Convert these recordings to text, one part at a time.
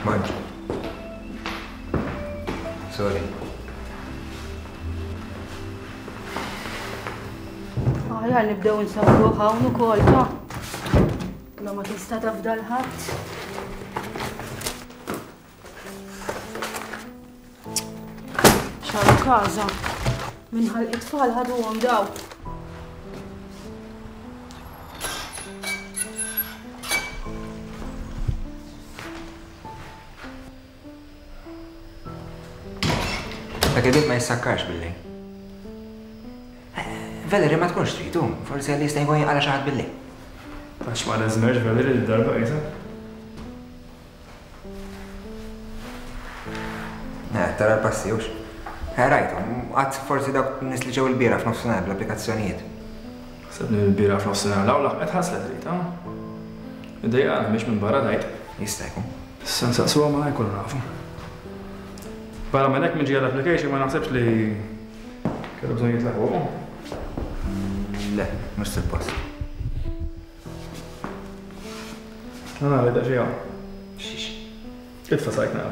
Bonġu. Sorry. Aħjar nibdew nsawru hawn ukoll ta' La ma tista' tafda l-ħadd. ċaru każa. Minħal it-tfal ħaduhom daw. Dak il-bib ma jissakkarx billi. Valerie ma tkunx tridu, forsi għalli jista' jkun jinqala xi ħadd billi. Għax ma neżmerx Valerie d-darba qisha. Eh, tara l-passi, hux? Eh, rajthom, għad forsi dawk nies li ġew il-biera f'nofsinhar bl-applikazzjonijiet. Ħsebni l-biera f'nofsinhar l-awla qed ħaslet Rita. Iddejjaqna mhix minn barra tgħid. Jista' jkun. Issa nsaqsuha ma jkunu nafu. Barra minn hekk minn ġejja l-application ma naħsebx li kellu bżonn jitla' fuq. Le, mhux suppost. Nara da xi hawn. Xiex? Itfa' sajk nara.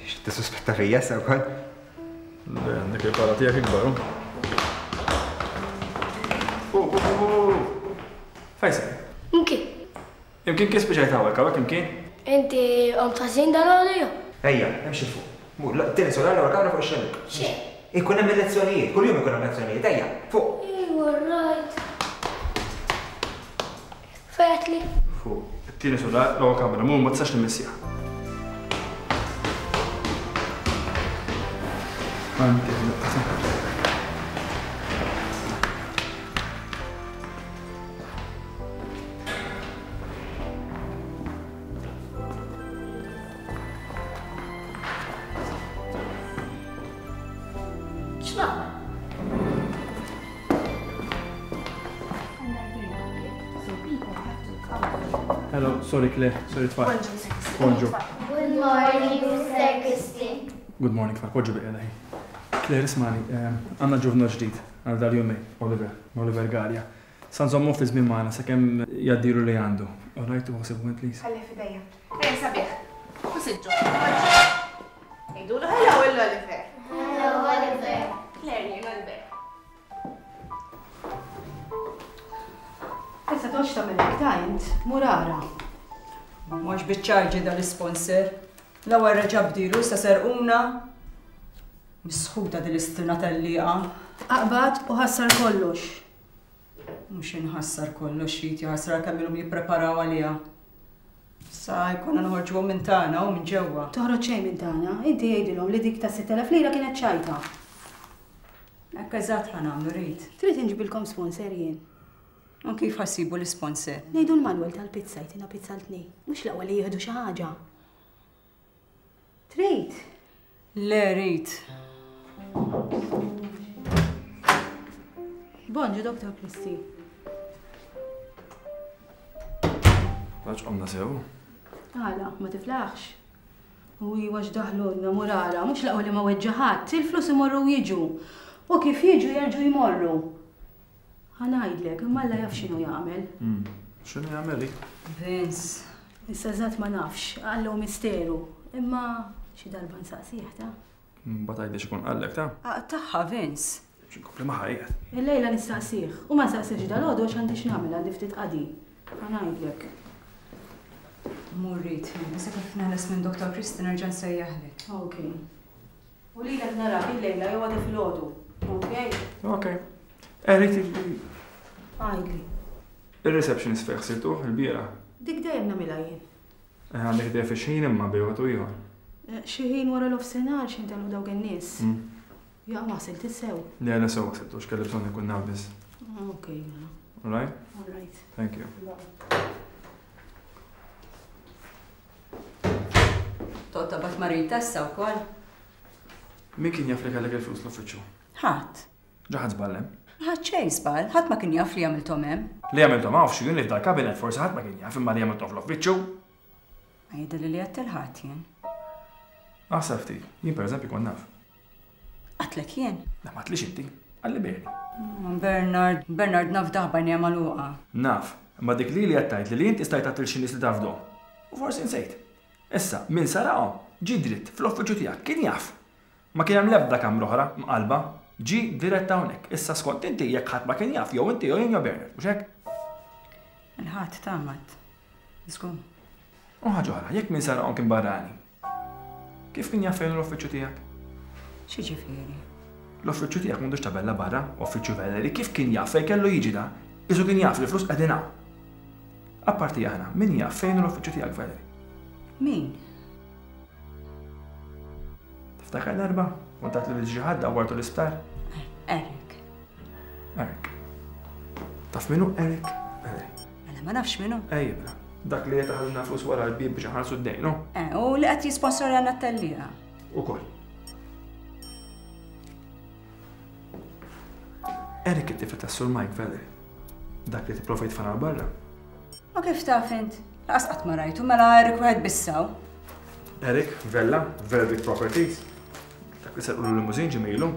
Xiex, tissuspetta fija issa wkoll? Le, għandek il-pala tiegħek ikbar. Oh, oh, oh, oh. Fejn Imkien. Imkien kif spiċajt hawnhekk, hawnhekk imkien? Inti qomt ħażin dalgħodu jew? Ejja, imxi 'l fuq. Mur, tieni sular l-ewwel kamra fuq ix-xellug. Xejn. Ikun hemm il-lezzjonijiet, kuljum ikun hemm lezzjonijiet, ejja, fuq. Ejwa, rajt. Fejn għedtli? Fuq. It-tieni sular, l-ewwel kamra, mur ma tistax nimmissjaha. Għandi daqqa. Hello, sorry Claire, sorry tfal. Bonġu. Good morning, Mr. Christie. Good morning, tfal, poġġu biqeda Claire, ismani, eh, għanna ġuvna ġdid għal dal-jumej, Oliver, Oliver Gallia. Sa nżommuh ftit żmien magħna sakemm jgħaddilu li għandu. All right, tieħu ħsiebu int please. Ħallih f'idejja. Ejja sabiħ. U siġġu. Għidulu hello lil Oliver. Hello Oliver. Claire jien Oliver. Issa toqgħodx tagħmel hekk ta' int, mur ara. Mhux biċ-ċarġi dal-isponsor. L-ewwel reġa' bdielu issa serquna. Misħuta din l-istrina tellieqa. Aqbad u ħassar kollox. Mhux inħassar kollox x'jrid jaħasra kemm ilhom jippreparaw għaliha. Sa jkollna noħorġuhom minn tagħna u minn ġewwa. Toħroġ xejn minn tagħna, inti għidilhom li dik ta' 6,000 lira kienet ċajta. Hekk eżatt ħa nagħmlu Rit. Trid inġibilkom sponsor jien. U kif ħa ssibu l-isponsor? Ngħidu l-Manwel tal-pizza jtina pizza għal tnejn. Mhux l-aqwa li jieħdu xi ħaġa. Trid? Le rrid. Bonġu, Dr. Christie. Għax qomna sew. Għala, ma tiflaħx. U iwa x'daħlulna murara, mhux laqgħu li ma weġġa' ħadd, il-flus imorru u jiġu. U kif jiġu jerġgħu jmorru. Ħa ngħidlek, imma Alla jaf x'inhu jagħmel. X'inhu jagħmel hi? Vince. Issa eżatt ma nafx, Alla hu misteru. Imma xi darba nsaqsih, ta? Mbagħad għidli x'ikun qallek, ta? Aqtagħha, Vince. Xi nkompli magħha qiegħed. Illejla nistaqsih. U ma nsaqsihx dalgħodu għax għandi x'nagħmel, għandi ftit qadi. Ħa ngħidlek. Mur Rit, issa kif neħles minn Dottor Christie nerġa' nsejjaħlek. Ok. U lilek narak illejla jew għada filgħodu. Ok? Ok. Erik Għidli. Ir-receptionist fejn ħsiltuh il-bieraħ? Dik dejjem nagħmilha jien. Eh, għandek idea fi x'ħin imma bejn wieħed u ieħor? Eh, xi ħin wara l-ofsinhar x'ħin telgħu dawk in-nies. Mm. Jaqa' ma ħsilt sew. Le, le sew ħsiltu, x'kelli bżonn inkun naf biss. Ok, mela. All right? All right. Thank you. Toqgħod taqbad ma' Rita issa wkoll? Min kien jaf li kellek il-flus l-uffiċċju? Ħadd. Ġa ħadt żball hemm? Ma ħadt xejn żball, ħadd ma kien jaf li għamilthom hemm. Li għamilthom hawn f'xi jum li f'dal-kabinett forsi ħadd ma kien jaf imma li għamilthom fl-uffiċċju. Ma jidhirli li għedt 'il ħadd jien. Aħseb ftit, jien pereżempju kont naf. Għedtlek jien? Le m'għedtlix inti, qalli Bernie. Bernard, Bernard nafdah b'għajnejja magħluqa. Naf, imma dik lili qed tgħidli li inti stajt għedt lil xi nies li tafdhom. U forsi nsejt. Issa, min saraqhom ġie dritt fl-uffiċċju tiegħek, kien jaf. Ma kien hemm l-ebda kamra oħra mqallba. Ġie dirett hawnhekk. Issa skont inti jekk ħadd ma kien jaf jew inti jew jien jew Bernard, mhux hekk? Il-ħadd tgħammad. Żgur. U ħaġa oħra, jekk min saraqhom kien barrani, kif kien jaf fejn hu l-uffiċċju tiegħek? X'jiġifieri? L-uffiċċju tiegħek m'għandux tabella barra, Uffiċċju Valerie, kif kien jaf fejn kellu jiġi da? Qisu kien jaf li l-flus qegħdin hawn. Apparti aħna, min jaf fejn hu l-uffiċċju tiegħek Valerie? Min? Tiftakar darba? Kont għedt lil xi ħadd dawwartu l-isptar? Eric. Eric. Taf min hu Eric? Valerie. Mela ma nafx min hu. Ejja, mela. Dak li qed iħallilna flus wara l-bieb biex inħallsu d-dejn, hu? Eh, u li qed jisponsorjana t-tellieqa. Ukoll. Eric it-tifel tas-Sur Mike Valerie. Dak li tipprova jitfana 'l barra. U kif taf int? Laqas qatt ma rajtu, mela Eric wieħed biss hawn. Eric, Vella, Verdict Properties. Dak li serqulu l-limużin ġimilu.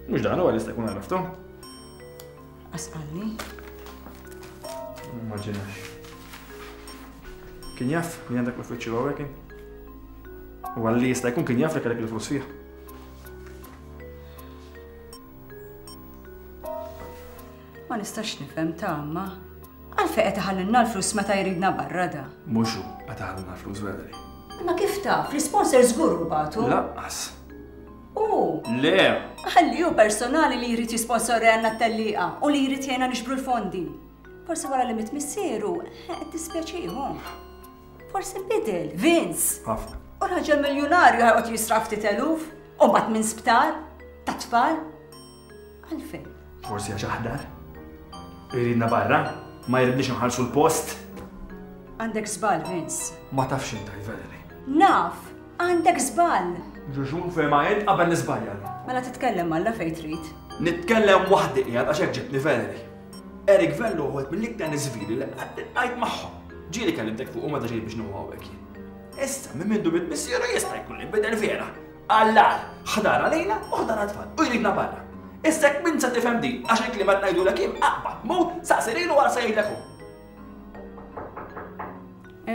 Mhux dan huwa li jista' jkun għaraftu. Laqas qalli. Immaġinax. Kien jaf li għandek l-uffiċċju hawnhekk kien? U għalli jista' jkun kien jaf li kellek il-flus fih. Ma nistax nifhem ta' ma. Għalfejn qed iħallilna l-flus meta jridna barra da? Mhux hu qed iħallilna l-flus Valerie. Imma kif taf? L-isponsor żgur hu bagħtu. Lanqas. Hu? Le! Ħalli hu personali li jrid jisponsorjalna t-tellieqa u li jrid jgħinna niġbru l-fondi. Forsi wara li miet missieru, qed tispjaċih hu. Forsi nbidel, Vince. Ħafna. U raġel miljunarju ħajqgħod jisraf ftit eluf, u mbagħad minn sptar, ta' tfal. Għalfejn? Forsi għax aħdar. Iridna barra, ma jridniex nħallsu l-post. Għandek żball, Vince. Ma tafx inta, Valerie. Naf, għandek żball. Ġuġun fejn ma int qabel niżbalja. Mela titkellem Alla fejn trid. Nitkellem waħdi qiegħed għax hekk ġibtni Valerie. Eric Vello hu wieħed mill-iktar nies vili li qatt iltqajt magħhom. Ġieli kellimtek fuqu meta ġejt biex nieħu hawnhekk jien. Issa minn mindu miet missieru jista' jkun li nbidel vera. Għall-agħar, ħdar għalina u ħdar għat-tfal u jridna barra. Issa jekk m'int se tifhem din għax il-kliem qed ngħidulek jien aqbad, mur, saqsi lilu wara se jgħidlek hu.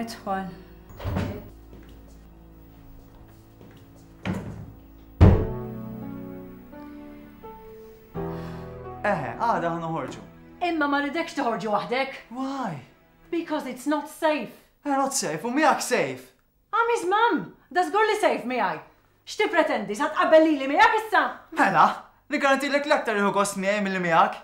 Idħol. Eħe, għada ħa noħorġu. Imma ma rridekx toħorġu waħdek. Why? Because it's not safe. Eh, not safe, u miegħek safe. I'm his mum! Da żgur li safe miegħi. X'tippretendi, sa tqabbel lili miegħek issa? Mela, niggarantilek l-aktar jieħu gost miegħi milli miegħek.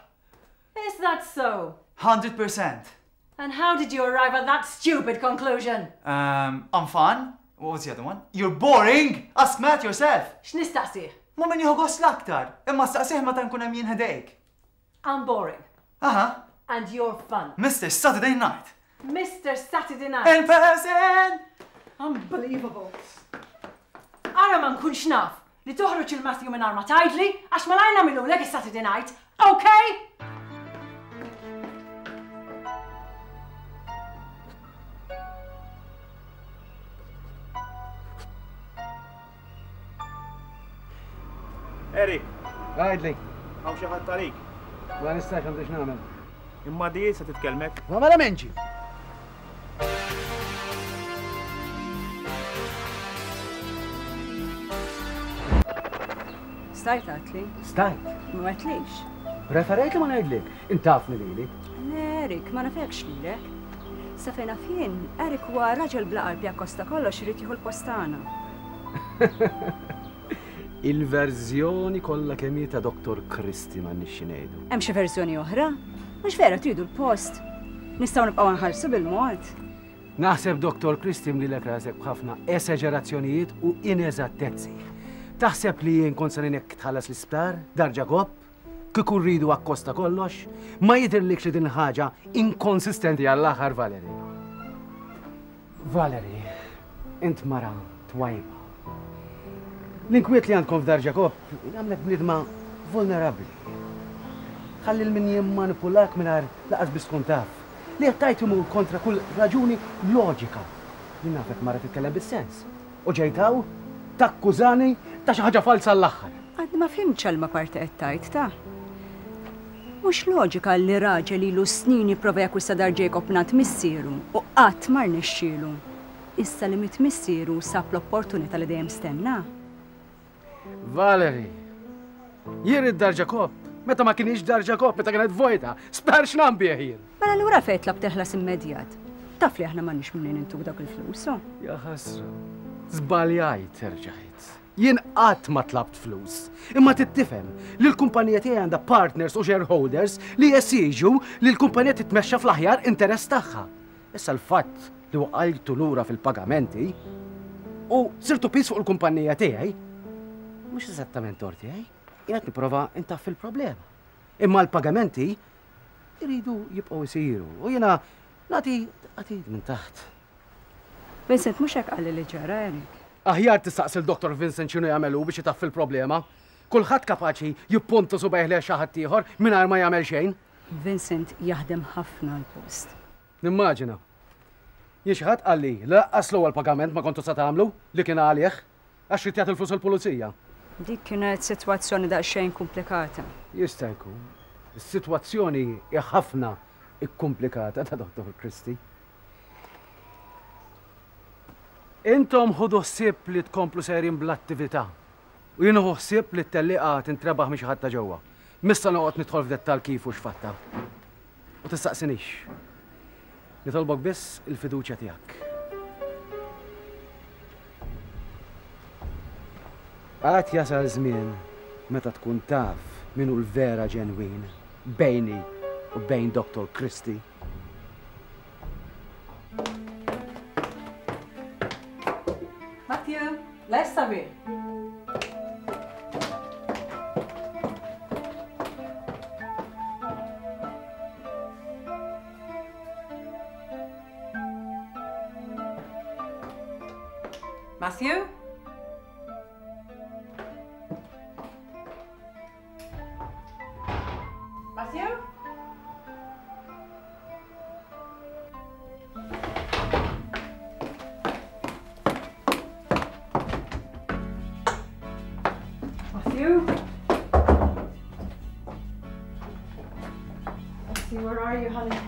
Is that so? 100%. And how did you arrive at that stupid conclusion? Um, I'm fun. What was the other one? You're boring! Ask Matt yourself! X'nistaqsih? Ma min jieħu gost l-aktar, imma staqsih meta nkun hemm jien ħdejk. I'm boring. Aha. And you're fun. Mr. Saturday Night. Mr. Saturday Night. In person! Unbelievable. Ara ma nkunx naf li toħroġ il-Matthew mingħajr ma tgħidli għax malajr nagħmilulek is-Saturday Night, okay? Eric. Għidli. Hawn xi ħadd għalik. Ma nistax għandi x'nagħmel. Imma di se titkellmek. Ma mela menġi. Stajt għatli? Stajt. Ma għatlix. Preferejt li ma ngħidlik, intafni lili. Le, Erik, ma nafekx lilek. Sa fejn naf jien, Erik huwa raġel bla qalb jakkosta kollox irid jieħu l-post tagħna. Il-verżjoni kollha kemm hi ta' Dottor Christie m'għandniex xi ngħidu. Hemm xi verżjoni oħra? Mhux vera tridu l-post? Nistgħu nibqgħu nħallsu bil-mod. Naħseb Dottor Christie mlilek rasek b'ħafna esaġerazzjonijiet u ineżattezzi. Taħseb li jien kont se ngħinek tħallas l-isptar, Dar Ġakobb? Kieku rridu akkost ta' kollox? Ma jidhirlikx li din il-ħaġa inkonsistenti għall-aħħar, Valerie? Valerie, int mara twajba. L-inkwiet li għandkom f'Dar Ġakobb jagħmlek bniedma vulnerabbli. Tħalli 'l min jimmanipulak mingħajr lanqas biss tkun taf. Li qed tgħid imur kontra kull raġuni loġika. Jien nafek mara titkellem bis-sens. U ġejt hawn takkużani ta' xi ħaġa falza għall-aħħar. Għadni ma fhimtx għal ma parti qed tgħid, ta. Mhux loġika li raġel ilu snin jipprova jakkwista Dar Jacob mingħand missieru u qatt ma rnexxielu. Issa li miet missieru sab l-opportunità li dejjem stenna. Valerie, jien ridt dar Ġakobb meta ma kinitx dar Ġakobb, meta kienet vojta, sptar x'nam bih jien. Mela allura fejn tlabt il-ħlas immedjat? Taf li aħna m'għandniex mnejn intuk dawk il-flus, oh. Ja ħasra, żbaljajt erġajt. Jien qatt ma tlabt flus. Imma trid tifhem li l-kumpanija tiegħi għandha partners u shareholders li jesiġu li l-kumpanija titmexxa fl-aħjar interess tagħha. Issa l-fatt li waqajtu lura fil-pagamenti u sirtu piż fuq il-kumpanija tiegħi, mhux eżattament tort tiegħi. Jien qed nipprova ntaffi l-problema. Imma l-pagamenti jridu jibqgħu jsiru u jiena nagħti għatid minn taħt. Vincent mhux hekk qalli li ġara, Eric. Aħjar tistaqsi 'l Dottor Vincent x'inhu jagħmel hu biex itaffi l-problema. Kulħadd kapaċi jipponta subgħajh lejn xi ħadd ieħor mingħajr ma jagħmel xejn. Vincent jaħdem ħafna għall-post. Nimmaġina. Jien xi ħadd qalli li lanqas l-ewwel pagament ma kontu sa tagħmlu, li kien għalih, għax ried jagħti l-flus lill-pulizija. Dik kienet sitwazzjoni daqsxejn kumplikata. Jista' jkun. Is-sitwazzjoni hi ħafna kkumplikata ta' Dottor Christie. Intom ħudu ħsieb li tkomplu sejrin bl-attività. U jien nieħu ħsieb li t-tellieqa tintrebaħ minn xi ħadd ta' ġewwa. M'issa noqgħod nidħol f'dettall kif u x'fatta. U tistaqsinix. Nitolbok biss il-fiduċja tiegħek. Għad jasal żmien meta tkun taf min hu l-vera ġenwin bejni u bejn Dottor Christie. Matthew, lest sabiħ. Matthew? Matthew? Matthew? Matthew, where are you, honey?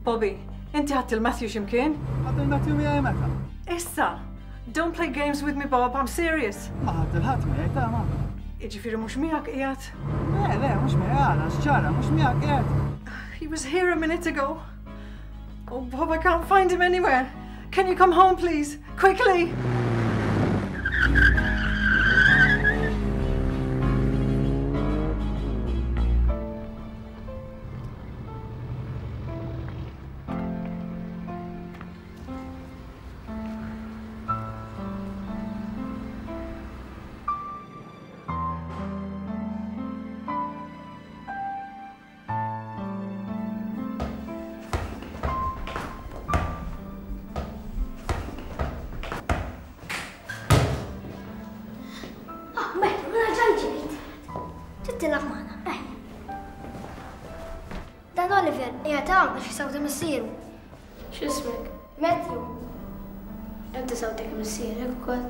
Bobby, inti ħadd il-Matthew x'imkien? Ħadd il-Matthew miegħi meta? Issa! Don't play games with me, Bob, I'm serious. Ma ħadd il-ħadd miegħi ta' ma. Jiġifieri mhux miegħek qiegħed? Le, le, mhux miegħi għala, x'ġara, mhux miegħek qiegħed. He was here a minute ago. Oh, Bob, I can't find him anywhere. Can you come home, please? Quickly! Ah, Matthew, mela ġan ġejt. Trid tilgħab magħna, ejja. Dan Oliver qiegħed hawn għax isawti missieru. X'ismek? Matthew. Inti sawtek missierek ukoll.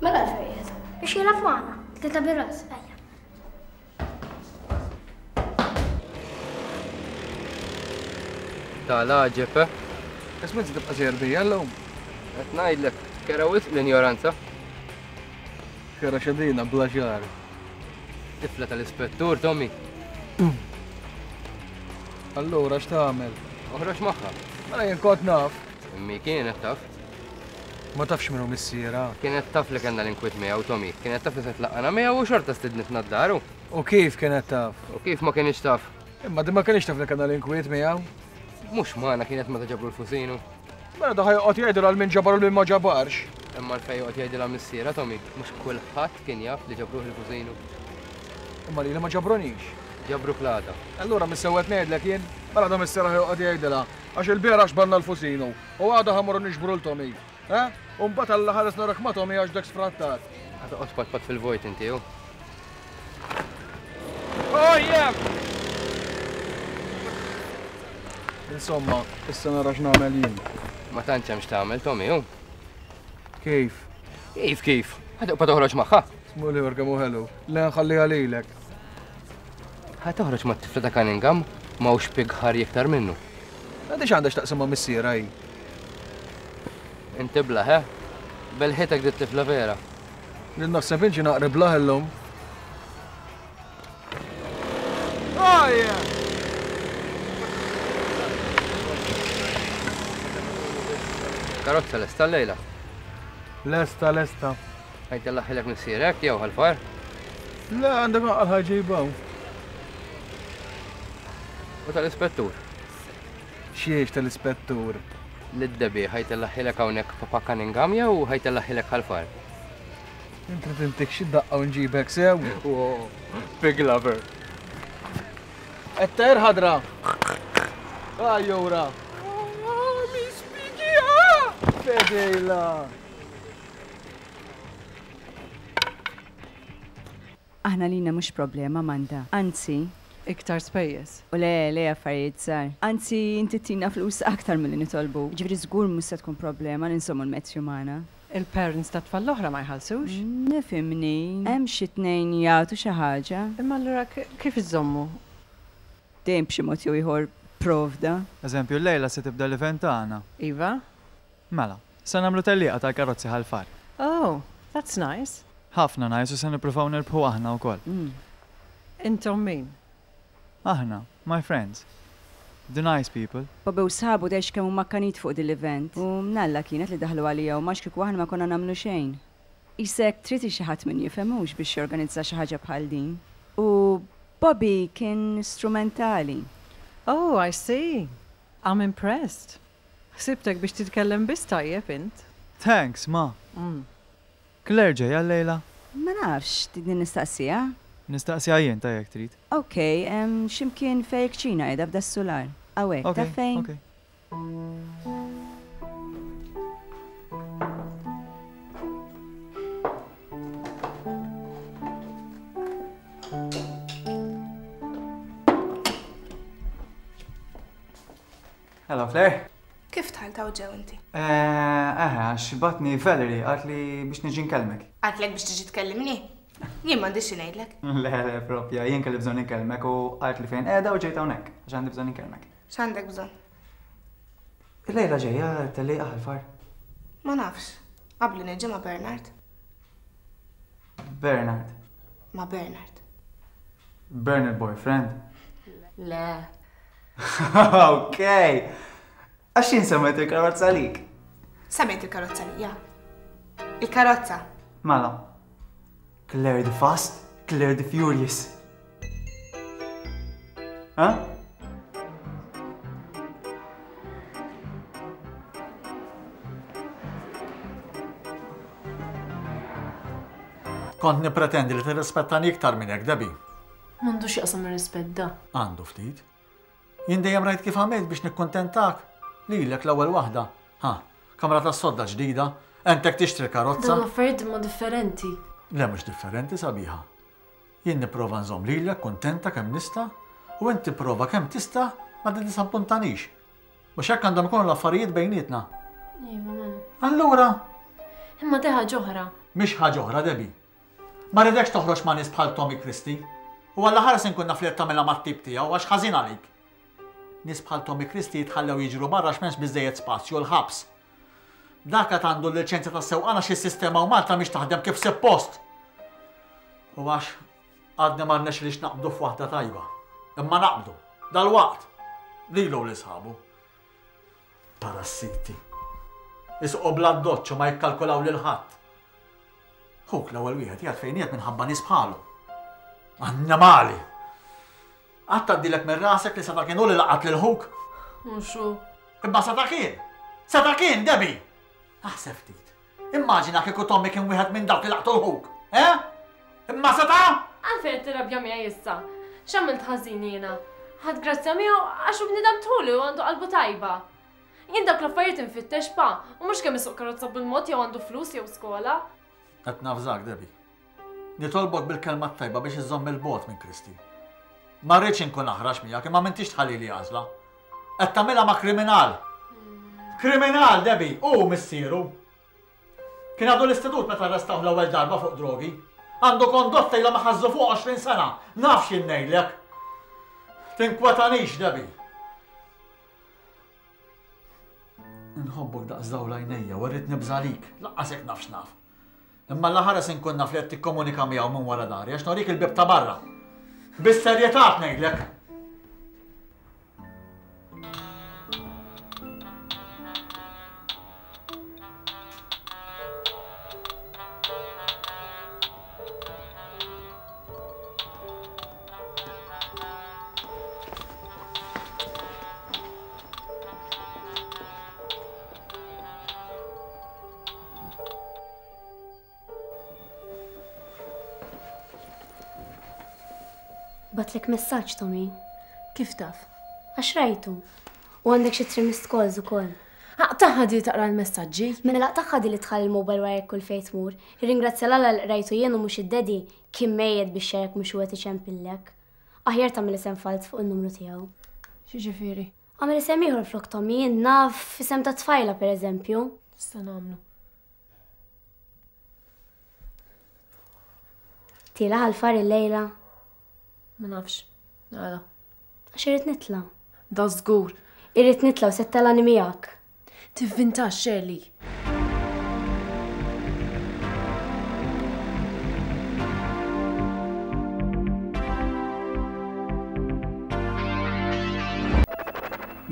Mela għalfejn qiegħed hawn? Biex jilgħab magħna, tlieta bir-ras, ejja. Tal-għaġeb, eh? Isma' inti tibqa' sejjer bija llum. Qed ngħidlek, kera wisq l-injoranza. Kera xedina bla xagħar. Tifla tal-ispettur, Tommy. Allura x'tagħmel? Oħroġ magħha. Mela jien kont naf. Immi kienet taf. Ma tafx min hu missierha. Kienet taf li kellna l-inkwiet miegħu, Tommy. Kienet taf li se tlaqqana miegħu u xorta stidnitna d-dar u. U kif kienet taf? U kif ma kinitx taf? Imma din ma kinitx taf li kellna l-inkwiet miegħu. Mhux magħna kienet meta ġabru l-fusinu. Mela da ħa joqgħod jgħidilha għal min ġabar u lil min ma ġabarx. Imma għalfejn joqgħod jgħidilha missierha, Tommy? Mhux kulħadd kien jaf li ġabruh il-fusinu. Imma lili ma ġabrunix. Ġabruk l-għada. Allura mis-sewwa qed ngħidlek jien? Mela da missierha ħa joqgħod jgħidilha għax ilbieraħ xbanna l-fusinu. U għada ħa mmorru niġbru 'l Tommy. Eh? U mbagħad Alla ħares narak ma' Tommy għax dak sfrattat. Ħa toqgħod tpatpat fil-vojt inti, hu. Oh yeah! Insomma, issa nara x'nagħmel jien. Ma tantx hemm x'tagħmel, Tommy, hu. Kif? Kif kif? Ħa tibqa' toħroġ magħha. Ismu l-ieħor kemm hu ħelu. Le nħalliha lilek. Ħa toħroġ mat-tifla ta' Cunningham, m'hawnx pig ħarj iktar minnu. Għandi x'għandha x'taqsam ma' missierha hi. Inti blah, eh? Belħitek dit-tifla vera. Jien naħseb inġi naqri blah illum. Oh yeah! Karozza lesta llejla. Lesta, lesta. Ħajt jallaħilek missierek jew ħal-far? Le, għandek għal ħajġibaw. U tal-ispettur? Xiex tal-ispettur? Lid-debi ħajtellaħilek hawnhekk Papa Cunningham jew ħajtellaħilek ħal-far? Int trid intik xi daqqa u nġibek sew? Big lover. Qed tajr ħadra. Ajjura. Fedejla. Aħna lina mhux problema, Amanda. Anzi. Iktar spejjeż. U le, le affarijiet żgħar. Anzi, inti ttina flus aktar milli nitolbu. Jiġifieri żgur mhux se tkun problema li nżommu l-Matthew magħna. Il-parents tat-tfal l-oħra ma jħallsux? Nifhimni, hemm xi tnejn jagħtu xi ħaġa. Imma allura kif iżżommu? Dejjem b'xi mod jew ieħor provda. Eżempju, llejla se tibda l-event tagħna. Iva. Mela, se nagħmlu tellieqa tal-karozzi Ħal Far. Oh, that's nice. Ħafna nice u se nippruvaw nirbħu aħna wkoll. Intom min? Aħna, my friends. The nice people. Bobby u sħabu tgħidx kemm huma akkanit fuq din l-event. U mnalla kienet li daħlu għalija huma għax kieku aħna ma konna nagħmlu xejn. Qisek trid xi ħadd min jifhem hux biex jorganizza xi ħaġa bħal din. U Bobby kien strumentali. Oh, I see. I'm impressed. Ħsibtek biex titkellem biss tajjeb int. Thanks, ma. Claire ġejja llejla? Ma nafx, tridni nistaqsiha? Nistaqsiha jien ta jekk trid. Ok, xi mkien fejn il-kċina qiegħda f'das-sular. Hawnhekk, taf fejn? Ok, ok. Hello Claire. Kif dħalt hawn ġew inti? Eh, eħe, għax batni Valerie qaltli biex niġi nkellmek. Qaltlek biex tiġi tkellimni? Jien m'għandix xi ngħidlek. Le, le, propja, jien kelli bżonn inkellmek u qaltli fejn qiegħda u ġejt hawnhekk għax għandi bżonn inkellmek. X'għandek bżonn? Illejla ġejja tellieqa ħal-far. Ma nafx. Qabli niġi ma' Bernard. Bernard? Ma' Bernard. Bernard boyfriend? Le. Ok. Għax jien semmejt il-karozza għalik. Semmejt il-karozza lija. Il-karozza. Mela. Claire the Fast, Claire the Furious. Ha? Kont nippretendi li tirrispettani iktar minn hekk, Debbie. M'għandux x'jaqsam ir-rispett da. Għandu ftit. Jien dejjem rajt kif għamilt biex nikkuntentak. Lilek l-ewwel waħda. Ha, kamra tas-sodda ġdida, għentek tixtri karozza. Dawn l-affarijiet imma differenti. Le mhux differenti sabiħa. Jien nipprova nżomm lilek kuntenta kemm nista' u inti prova kemm tista' ma tiddisappuntanix. Mhux hekk għandhom ikunu l-affarijiet bejnietna. Iva, mela. Allura? Imma di ħaġa oħra. Mhix ħaġa oħra, Debbie. Ma rridekx toħroġ ma' nies bħal Tommy Christie. U allaħares inkun naf li qed tagħmilha mat-tip tiegħu għax ħażin għalik. Nies bħal Tommy Christie jitħallew jiġru barra għax m'hemmx biżżejjed spazju l-ħabs. Dak għad għandu l-liċenzja tas-sewqan għax is-sistema u Malta mhix taħdem kif suppost. U għax għadni ma rnexxilix naqbdu f'waħda tajba. Imma naqbdu. Dalwaqt. Lilu u lil sħabu. Parassiti. Isuqu bl-addoċċ u ma jikkalkulaw lil ħadd. Ħuk l-ewwel wieħed jgħid fejn qiegħed minħabba nies bħalu. Annimali! Qatt tgħaddilek minn rasek li seta' kien hu li laqat lil ħuk? Mhux hu. Imma seta' kien! Seta' kien, Debbie! Aħseb ftit. Immaġina kieku Tommy kien wieħed minn dawk li laqtu l-ħuk. Eh? Imma seta'? Għalfejn qed tirrabja miegħi issa? X'għamilt ħażin jiena? Ħadt grazzja miegħu għax hu bniedem tħuli u għandu qalbu tajba. Jien dawk l-affarijiet infittex pa, u mhux kemm isuq karozza bil-mod jew għandu flus jew skola. Qed navżak, Debbie. Nitolbok bil-kelma t-tajba biex iżżomm 'il bogħod minn Christy. Ma rridx inkun aħrax miegħek imma m'intix tħallili għażla. Qed tagħmilha ma' kriminal! Kriminal, Debbie! Hu missieru! Kien għadu l-istitut meta arrestawh l-ewwel darba fuq drogi. Għandu kondotta ilhom iħażżu fuq 20 sena. Naf x'jien ngħidlek. Tinkwetanix, Debbie. Inħobbok daqs dawl għajnejja u rrid nibża' għalik, laqqas jekk naf x'naf. Imma Alla ħares inkun naf li qed tikkomunika miegħu minn wara dari għax norik il-bieb ta' barra. Bis-serjetà qed ngħidlek. Batlek messaġġ, Tommy. Kif taf? Għax rajtu. U għandek xi three missed calls ukoll. Aqtaħħa di taqra l-messaġġi. Mela laqtaħħa di li tħalli l-mobile warajk kull fejn tmur. Irringrazzja l-Alla li qrajtu jien u mhux id-daddy kien mejjet biex jarak mhux hu qed iċempillek. Aħjar tagħmel isem falz fuq in-numru tiegħu. X'jiġifieri? Agħmel isem ieħor flok Tommy, jien naf isem ta' tfajla pereżempju. Nista' nagħmlu. Tiela' għall-far illejla? Ma nafx. Għala? Għax irrid nitla'. Da żgur. Irrid nitla' u se ttelani miegħek. Tivvintax, Shirley.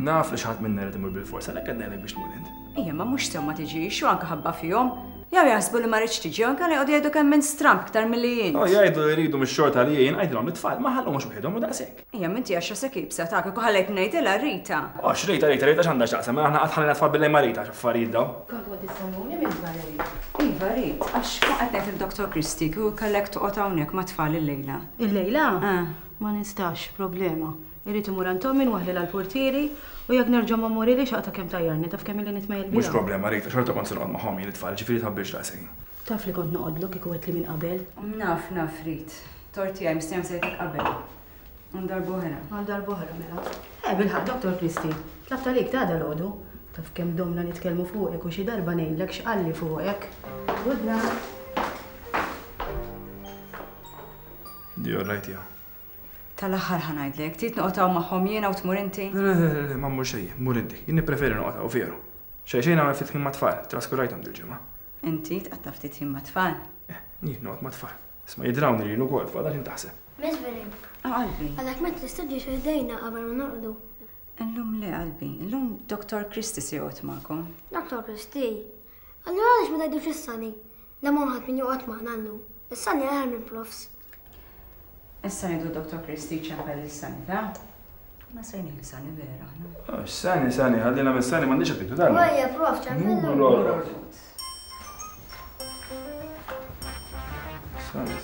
Naf li xi ħadd minna jrid imur bilfors, għalhekk qed ngħidlek biex tmur int. Ejja, ma mhux sew ma tiġix u anke ħabba fihom. Jew jaħsbu li ma ridtx tiġi jew inkella joqogħdu jgħidu kemm int stramb iktar milli int. Oh, jgħidu li jridu mix-xorta li jien, għidilhom li t-tfal ma ħallhomx waħedhom u daqshekk. Ejja, ma inti għax rasek iebsa ta' kieku ħallejtni ngħidilha Rita. Oh, x'Rita, Rita, Rita x'għandha x'taqsam, mela aħna qatt ħallejna t-tfal bil-lejl ma' Rita, x'affarijiet dawn. Kontu qed issemmuni minn Valerie. Iva, Rit, għax kont qed ngħid lil Dottor Christie kieku kellek toqgħod hawnhekk mat-tfal illejla. Illejla? Eh. Ma nistax, problema. Irrid immur għand ommi nwaħħlilha l-purtieri u jekk nerġa' ma mmurilhiex aqta' kemm tgħajjarni, taf kemm ili nitmejjel biha. Mhux problema Rita, xorta kont se noqgħod magħhom jien it-tfal, ġifieri tħabbilx daqshekk. Taf li kont noqgħodlok kieku għedtli minn qabel. Naf, naf Rit. Tort tiegħi mistennija sejtek qabel. Għal darb'oħra. Għal darb'oħra mela. Eh bilħaqq Dottor Christie, tlabt għalik ta' dalgħodu. Taf kemm domna nitkellmu fuqek u xi darba ngħidlek x'qalli fuqek. Good night. Di all right ja. Tal-aħħar ħa ngħidlek, trid noqgħod hawn magħhom jiena u tmur inti? Le, le, le, le, ma mmur xejn, mur inti. Jien nippreferi noqgħod hawn veru. Xejn xejn nagħmel ftit ħin mat-tfal, traskurajthom dil-ġimgħa. Inti tqatta' ftit ħin mat-tfal? Eh, jien noqgħod mat-tfal. Isma' jidrawni lili wkoll tfal, għax int taħseb. Miss Verin. Ah, qalbi. Għalhekk ma tistax ħdejna qabel ma norqdu. Illum le, qalbi. Illum Dottor Christie se joqgħod magħkom. Dottor Christie? Allura għaliex ma tgħidux lis-Sunny? Le m'hawn ħadd min joqgħod magħna llum. Is-Sunny aħjar mill-profs. Issa ngħidu Dottor Christie jċempel lil Sunny, ta? Ma sejnin Sunny vera aħna. Oh, Sunny, Sunny, ħallina minn Sunny m'għandix appitu dan. Ejja, prof, ċempillu. Sunny.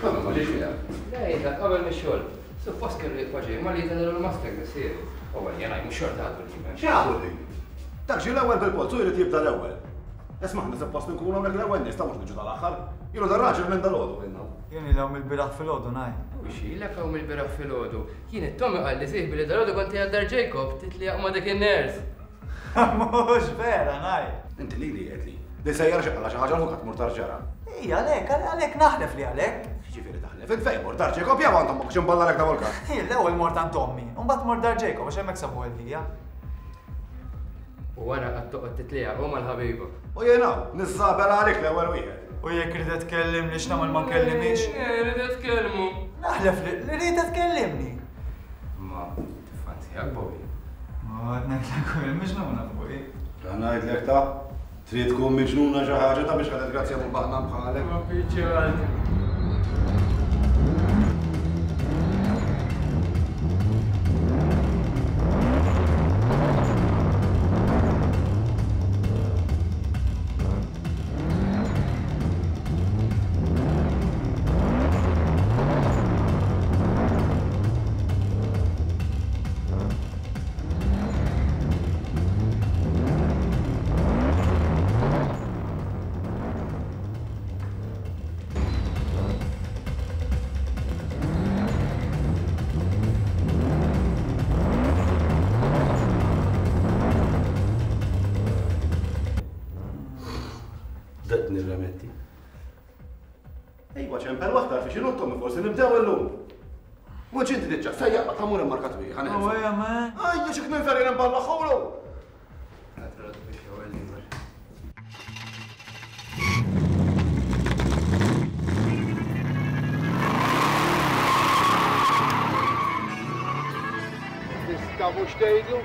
Tommy ma ġiex miegħek. Le, jitlaq qabel mix-xogħol. Suppost kellu jibqa' ġej ma li jtellgħu l-Mustang missieri. U ejja ngħid mhux xorta għadu l-ġimgħa. X'għadu l-ħin? Dak ġie l-ewwel bil-polz u jrid jibda l-ewwel. Isma' aħna suppost inkunu hawnhekk l-ewwel nies ta' mhux niġu tal-aħħar. Ilu dar-raġel minn dalgħodu ilna. Jien ili hawn mill-bieraħ filgħodu ngħid. U x'ilek hawn mill-bieraħ filgħodu? Jien it-Tommy qalli sieħbi li dalgħodu kont qiegħed dar Jacob titliegħaq ma' dik in-nurse. Mhux vera ngħid. Inti lili għedtli li sejjer xi qala xi ħaġa l-ħuk tmur dar ġara. Ija għalhekk, għalhekk naħlef li għalhekk. X'jiġifieri taħlef? Int fejn mort dar Jacob jew għand ommok x'imballalek dawn il-każ? Jien l-ewwel mort għand ommi, u mbagħad mort dar Jacob għax hemmhekk sabu għal ħija. U wara qgħadt toqgħod titliegħaq hu mal-ħabiba. U jien hawn, niżżabel għalik l-ewwel wieħed. U jekk ridet tkellimni x'nagħmel ma nkellimhiex? Eh, ridet tkellmu. Naħlef li ridet tkellimni. Ma tiffanzjak Bobby. Ma qed ngħidlek u jien miġnuna fuqi. Ta' ngħidlek ta' trid tkun miġnuna xi ħaġa ta' biex ħadet grazzja minn baħnan bħalek. Ma biċċa Bdejt nirremetti. Ejwa ċempel waħda fi xinu Tommy forsi nibdew illum. Mhux inti diġà sejjaq ma tagħmur immarkat wieħed ħa Oh, yeah, man. Ajja xi kien ferjen imballa ħulu. Tista' mhux tgħidlu?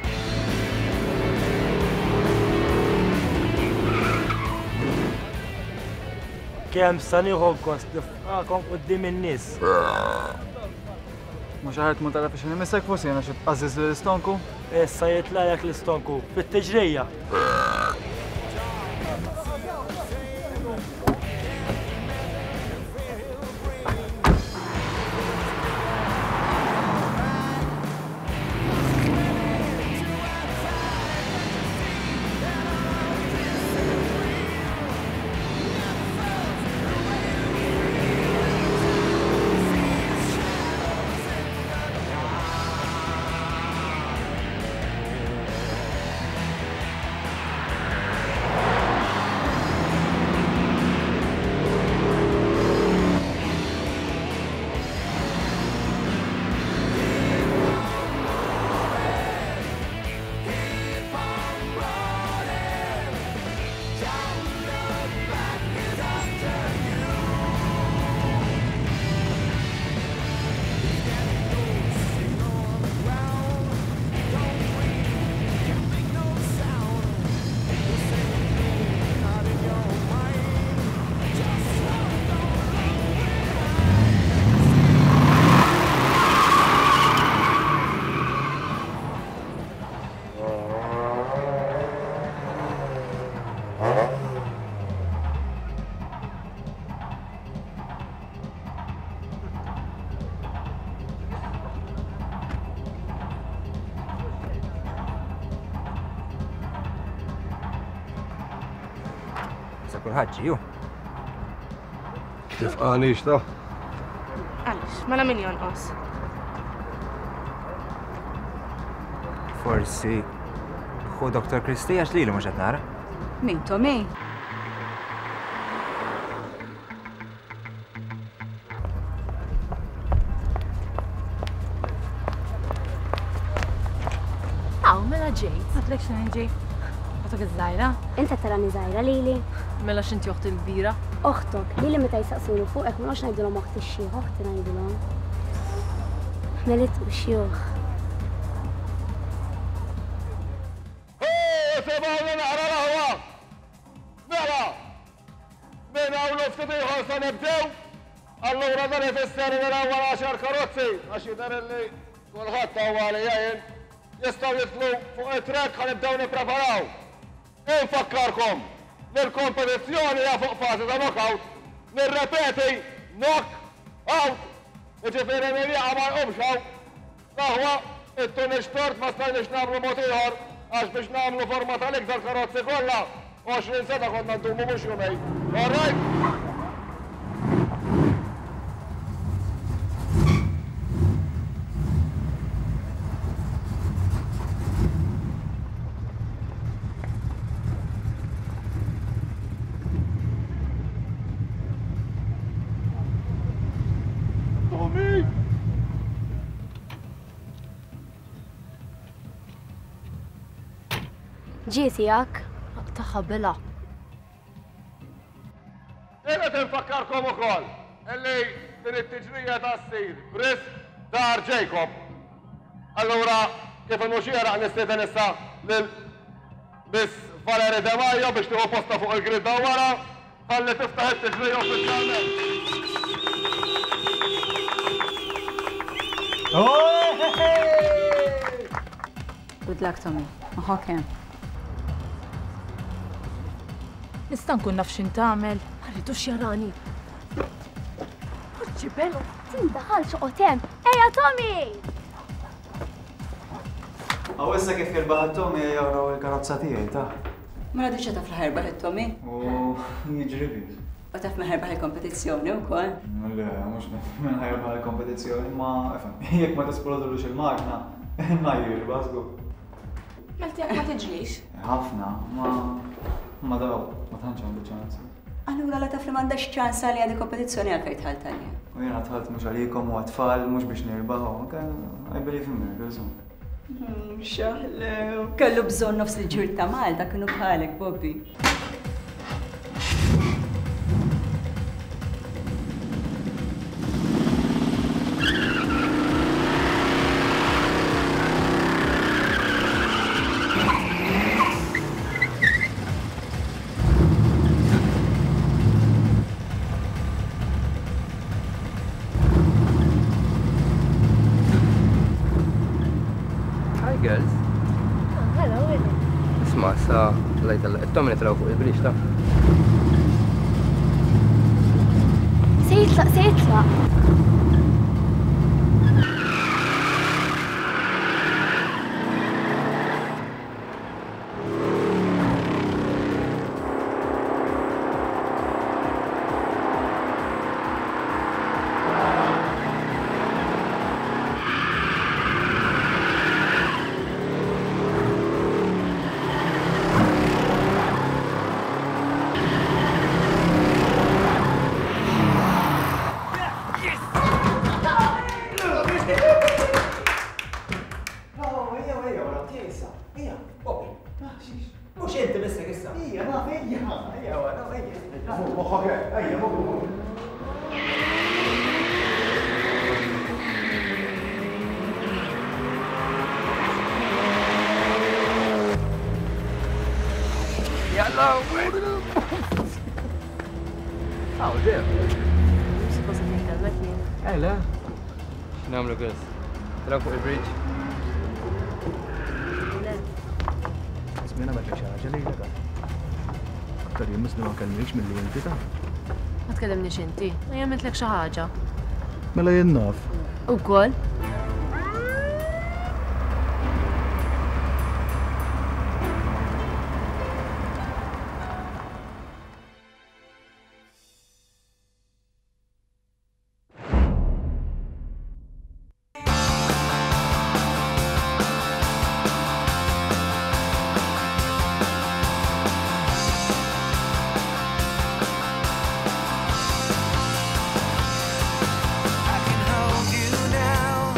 Kemm sa nieħu gost nifqakom quddiem in-nies. Mhux aħjar tmur tara biex nimissek forsi jiena xi tqażżiż lill-istonku? Issa jitlagħlek l-istonku fit-tiġrija. Sa kulħadd ġie, hu. Tifqanix ta'. Għaliex, mela min jonqos? Forsi ħu Dr. Christie għax lilu mhux qed nara. Min Tommy? Aw, mela ġejt. Għatlek xejn ġej. Oħtok iż-żgħira? Inta tarani żgħira lili. Mela x'inti oħti l-kbira? Oħtok, lili meta jsaqsuni fuqek ma noqgħodx ngħidilhom oħti x-xiħ, oħti ngħidilhom. Melit u xjuħ. Isimgħuni naqra l-aħwa! Mela, minn hawn u ftit ieħor se nibdew, allura dan ifisser li l-ewwel għaxar karozzi, għax jidher illi kulħadd hawn għalija jien, jistgħu jidħlu fuq it-track ħa nibdew nippreparaw. Infakkarkom li l-kompetizzjoni hija fuq fażi ta' knockout, nirrepeti, knock. Out! Jiġifieri min jaqa' ma jqumx hawn. L-aħwa, it-tunix tort ma stajniex nagħmlu mod ieħor għax biex nagħmlu forma tal-iktar karozzi kollha, 20 sena konna ndumu mhux jumejn. All right? Tommy! Ġie tiegħek? Tagħha bela. Irrid infakkarkom ukoll illi din it-tiġrija ta' ssir b'risq Dar Jacob. Allura kif inhu xieraq nistieden issa lil Miss Valerie De Maio biex tieħu postha fuq il-grid hawn wara ħalli tiftaħ it-tiġrija uffiċjalment. Good luck, Tommy. Moħħok hemm. Nista' nkun naf x'int tagħmel? Ma rridux jarani. Poġġi belu. Tindaħalx oqgħod hemm. Ejja Tommy! Aw issa kif jirbaħ it-Tommy ejja uraw il-karozza tiegħi ta. Mela diġà taf li ħerbaħ it-Tommy? U jiġri biss. U taf min ħerbaħ il-kompetizzjoni wkoll? Le, mhux min ħerbaħ il-kompetizzjoni, ma ifhem, jekk ma tisplodulux il-magna, imma jirbaħ żgur. Mela tiegħek ma tiġrix? Ħafna, ma ma daw, ma tantx għandu ċans. Allura la taf li m'għandekx ċans għaliha di kompetizzjoni għalfejn dħalt għaliha? U jiena dħalt mhux għalikom u għat-tfal, mhux biex nirbaħ, I believe in miracles. Xaħlew. Kellu bżonn nofs il-ġir ta' Malta kienu bħalek, Bobby. Hi girls. Oh, hello, Willy. Isma' sa lajt it-tomni traw fuq il-bridge ta' Se jitlaq, se jitlaq. Mhux inti missek issa. Ejja, naf, ejja, ejja, naf, ejja. Moħħok hekk, ejja, moħħok. Jalla! Aw, ġew. Suppost qed nitkellmek jien. Eh, le. X'nagħmlu girls? Taraw fuq il-bridge? Le. Ismi nagħmel xi ħaġa lejlek. Aktar jien misni ma kellniex milli inti ta. Ma tkellimniex inti, ma jagħmiltlek xi ħaġa. Mela jien naf. Ukoll. I can hold you now.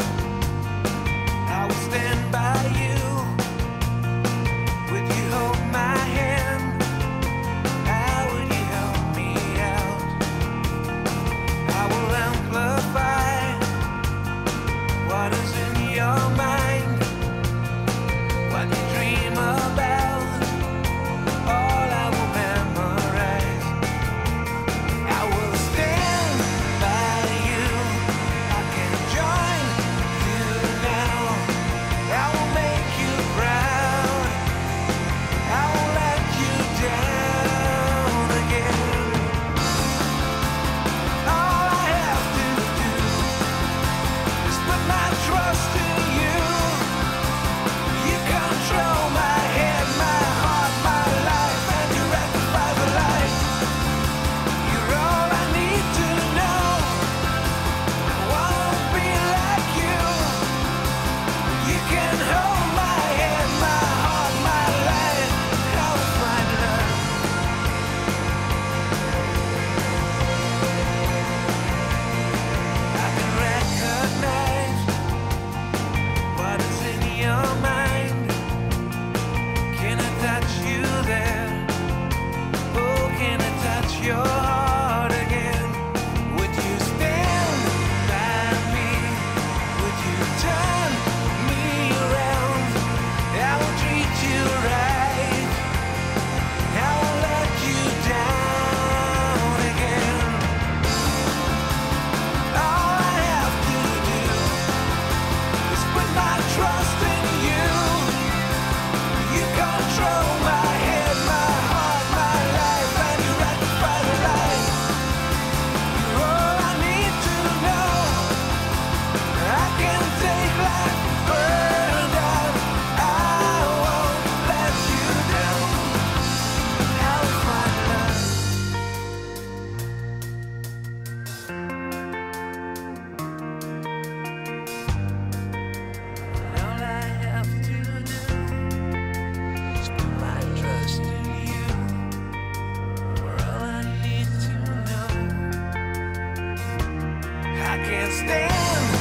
I can't stand.